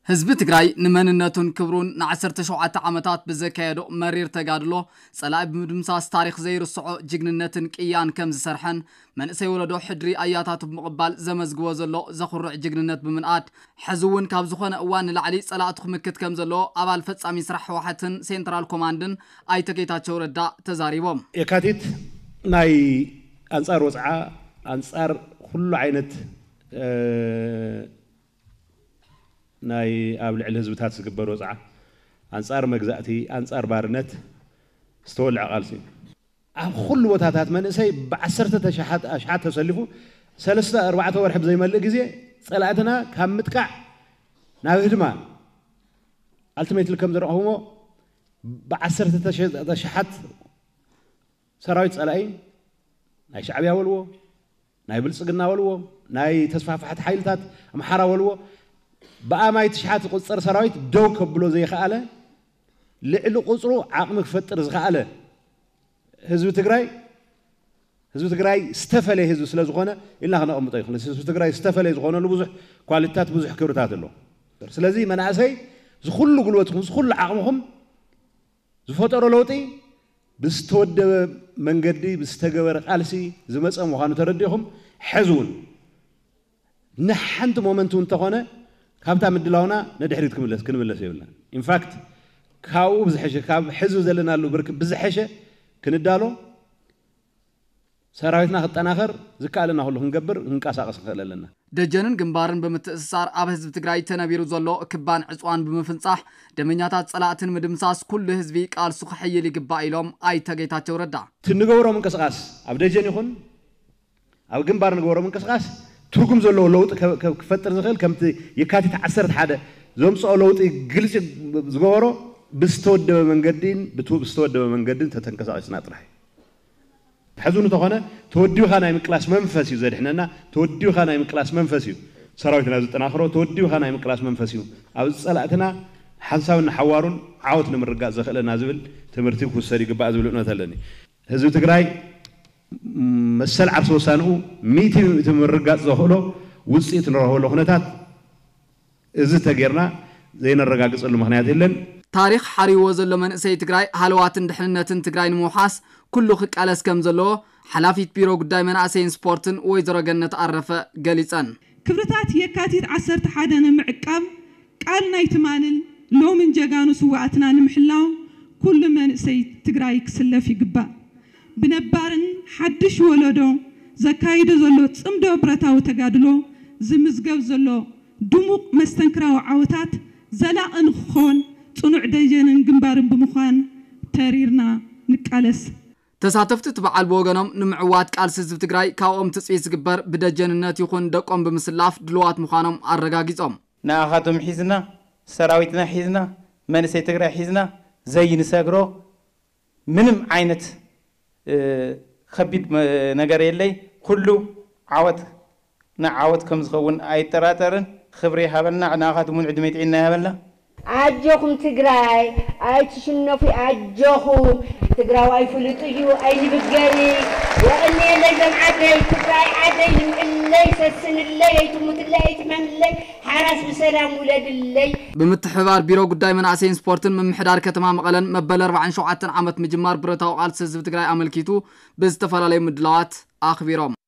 ህዝቢ ትግራይ ንመንነቱን ክብሩን ንዓሰርተ ሸውዓተ ዓመታት ብዘካየዶ መሪር ተጋድሎ ጸላኢ ብምድምሳስ ታሪኽ ዘይርስዖ ጅግንነትን ቅያን ከም ዝሰርሐን መንእሰይ ወለዶ ሕድሪ ኣያታቱ ብምቕባል ዘመዝግቦ ዘሎ ዘኹርዕ ጅግንነት ብምንኣድ ሕዚ እውን ካብ ዝኾነ እዋን ንላዕሊ ጸላእቱ ክምክት ከም ዘለዎ ኣባል ፈጻሚ ስራሕ ህወሓትን ሴንትራል ኮማንድን ኣይተ ጌታቸው ረዳ ተዛሪቦም። የካቲት ናይ ኣንጻር ወጽዓ ኣንጻር ኩሉ ዓይነት ናይ ኣብ ልዕሊ ህዝብታት ዝግበር ወጽዓ ኣንጻር መግዛእቲ ኣንጻር ባርነት ዝተወልዐ ቃልሲ እዩ። ኣብ ኩሉ ቦታታት መንእሰይ ብዓሰርተ ኣሽሓት ተሰሊፉ ሰለስተ ኣርባዕተ ወርሒ ብዘይመልእ ግዜ ጸላእትና ካብ ምጥቃዕ ናብ ህድማ ኣልቲሜትሊ ከም ዘረኸብዎ ብዓሰርተ ኣሽሓት ሰራዊት ጸላኢ ናይ ሻዕብያ በልዎ ናይ ብልጽግና በልዎ ናይ ተስፋፍሓት ሓይልታት ኣምሓራ በልዎ ብኣማይ ትሽሓት ዝቁጸር ሰራዊት ደው ከብሎ ዘይኸኣለ ልዕሊ ቁጽሩ ዓቕሚ ክፈጥር ዝኸኣለ ህዝቢ ትግራይ ህዝቢ ትግራይ ዝተፈለየ ህዝቢ ስለ ዝኾነ ኢልና ክነቐምጦ ይኽእል። ህዝቢ ትግራይ ዝተፈለየ ዝኾነሉ ብዙሕ ኳሊቲታት ብዙሕ ክብርታት ኣሎ። ስለዚ መናእሰይ ዝኩሉ ጉልበትኩም ዝኩሉ ዓቕምኹም ዝፈጠሮ ለውጢ ብዝተወደበ መንገዲ ብዝተገበረ ቃልሲ ዝመፀ ምዃኑ ተረዲእኹም ሕዚ እውን ንሓንቲ ሞመንት እውን እንተኾነ ካብታ ምድላውና ንድሕሪት ክምለስ ክንምለስ የብልና። ኢንፋክት ካብኡ ብዝሐሸ ካብ ሕዚ ዘለናሉ ብርክ ብዝሐሸ ክንዳሎ ሰራዊትና ክጠናኸር ዝከኣለና ኩሉ ክንገብር ክንቀሳቀስ ንኽእል ኣለና። ደጀንን ግንባርን ብምትእስሳር ኣብ ህዝቢ ትግራይ ተነቢሩ ዘሎ ክባን ዕፅዋን ብምፍንፃሕ ደመኛታት ፀላእትን ምድምሳስ ኩሉ ህዝቢ ቃልሱ ክሕይል ይግባእ ኢሎም ኣይተ ጌታቸው ረዳ። ትንገብሮ ምንቅስቃስ ኣብ ደጀን ይኹን ኣብ ግንባር ንገብሮ ምንቅስቃስ ትርጉም ዘለዎ ለውጢ ክፈጥር ዝኽእል ከምቲ የካቲት ዓሰርተ ሓደ ዘምፅኦ ለውጢ ግልፂ ዝገበሮ ብዝተወደበ መንገዲን ብዝተወደበ መንገዲን ተተንቀሳቂስና ጥራሕ እዩ። ሕዚ እንተኾነ ተወዲብካ ናይ ምቅላስ መንፈስ እዩ ዘድሕነና፣ ተወዲብካ ናይ ምቅላስ መንፈስ እዩ ሰራዊትና ዝጠናኽሮ፣ ተወዲብካ ናይ ምቅላስ መንፈስ እዩ ኣብ ጸላእትና ሓንሳብን ሓዋሩን ዓወት ንምርጋጽ ዘኽእለና ዝብል ትምህርቲ ክውሰድ ይግባእ ዝብል እምነት ኣለኒ። ህዝቢ ትግራይ መሰል ዓርሰ ውሳንኡ ሚእቲ ብምእቲ ምርጋጽ ዘኽእሎ ውጽኢት ንረኽበሉ ኩነታት እዚ ተጌርና ዘይነረጋግጸሉ ምኽንያት የለን። ታሪኽ ሓሪዎ ዘሎ መንእሰይ ትግራይ ሃለዋትን ድሕንነትን ትግራይ ንምውሓስ ኩሉ ክቃለስ ከም ዘለዎ ሓላፊት ቢሮ ጉዳይ መናእሰይን ስፖርትን ወይዘሮ ገነት ኣረፈ ገሊፀን። ክብርታት የካቲት ዓሰርተ ሓደ ንምዕቃብ ቃል ናይ ትማልን ሎምን ጀጋኑ ስውኣትና ንምሕላው ኩሉ መንእሰይ ትግራይ ክስለፍ ይግባእ። ብነባርን ሓድሽ ወለዶ ዘካይዶ ዘሎ ፅምዶ ብረታዊ ተጋድሎ ዝምዝገብ ዘሎ ድሙቕ መስተንክራዊ ዓወታት ዘላቒ ንክኾን ፅኑዕ ደጀንን ግንባርን ብምዃን ተሪርና ንቃለስ። ተሳተፍቲ እቲ በዓል ብወገኖም ንምዕዋት ቃልሲ ህዝቢ ትግራይ ካብኦም ትፅቢት ዝግበር ብደጀንነት ይኹን ደቆም ብምስላፍ ድልዋት ምዃኖም ኣረጋጊፆም። ንኣኻቶም ሒዝና ሰራዊትና ሒዝና መንእሰይ ትግራይ ሒዝና ዘይንሰግሮ ምንም ዓይነት ከቢድ ነገር የለይ። ኩሉ ዓወት ንዓወት ከም ዝኸውን ኣይጠራጠርን። ክብሪ ይሃበልና። ንኣኻትም እውን ዕድመ ጥዒና ይሃበልና። ኣጆኹም ትግራይ ኣይትሽነፉ ኣጆኹም ትግራዋይ ፍሉጥ እዩ ኣይንብገሪ የቐንየለይ ዞም ዓደይ ትግራይ ዓደይ ልምዕለይ ሰስንለይ ኣይትሙትለይ ኣይትሕመምለይ ሓራስ ብሰላም ውለድለይ። ብምትሕብባር ቢሮ ጉዳይ መናእሰይን ስፖርትን ምምሕዳር ከተማ መቐለን መበል ኣርባዓን ሸውዓተን ዓመት ምጅማር ብረታዊ ቃልሲ ህዝቢ ትግራይ ኣመልኪቱ ብዝተፈላለዩ ምድላዋት ኣኽቢሮም።